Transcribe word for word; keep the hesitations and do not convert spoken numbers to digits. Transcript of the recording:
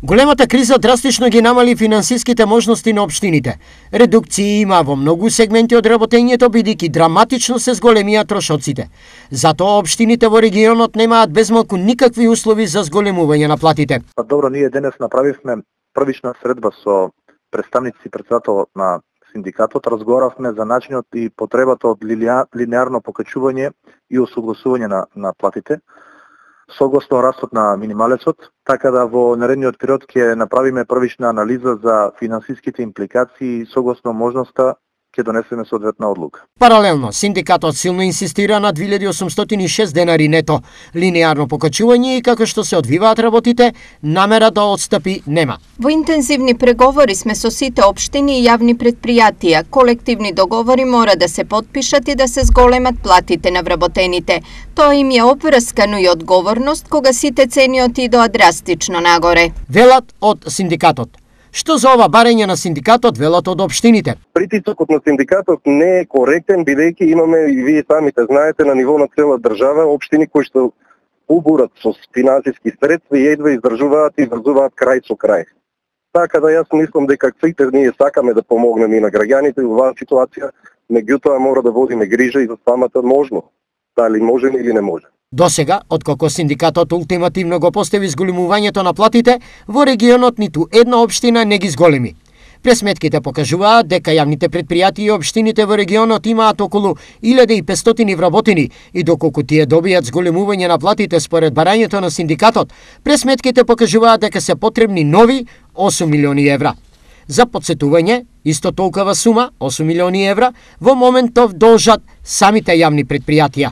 Големата криза драстично ги намали финансиските можности на општините. Редукции има во многу сегменти од работењето, бидејќи драматично се зголемија трошоците. Затоа општините во регионот немаат безмалку никакви услови за зголемување на платите. Па добро, ние денес направивме првична средба со представници и председателот на синдикатот, разговаравме за начинот и потребата од линеарно покачување и усогласување на, на платите, согласно растот на минималецот, така да во наредниот период ќе направиме првична анализа за финансиските импликации и согласно можноста ќе донесеме соодветна одлука. Паралелно, синдикатот силно инсистира на две илјади и осумстотини и шест денари нето. Линеарно покачување и како што се одвиваат работите, намера да отстапи нема. Во интензивни преговори сме со сите општини и јавни предпријатија. Колективни договори мора да се потпишат и да се зголемат платите на вработените. Тоа им е опврскано и одговорност кога сите цени отидоа драстично нагоре. Велат од синдикатот. Што за ова барање на синдикатот велат од општините? Притисокот на синдикатот не е коректен, бидејќи имаме, и вие самите знаете, на ниво на цела држава општини кои што убурат со финансиски средства и едва издржуваат и врзуваат крај со крај. Така да јас мислам дека сите ние сакаме да помогнеме и на граѓаните во оваа ситуација, меѓутоа мора да водиме грижа и за самата можност. Дали можеме или не може. Досега, откако синдикатот ултимативно го постави зголемувањето на платите, во регионот ниту една општина не ги зголеми. Пресметките покажуваат дека јавните предпријатија и општините во регионот имаат околу илјада и петстотини вработени и доколку тие добијат зголемување на платите според барањето на синдикатот, пресметките покажуваат дека се потребни нови осум милиони евра. За подсетување, исто толкова сума, осум милиони евра, во моментов должат самите јавни предпријатија.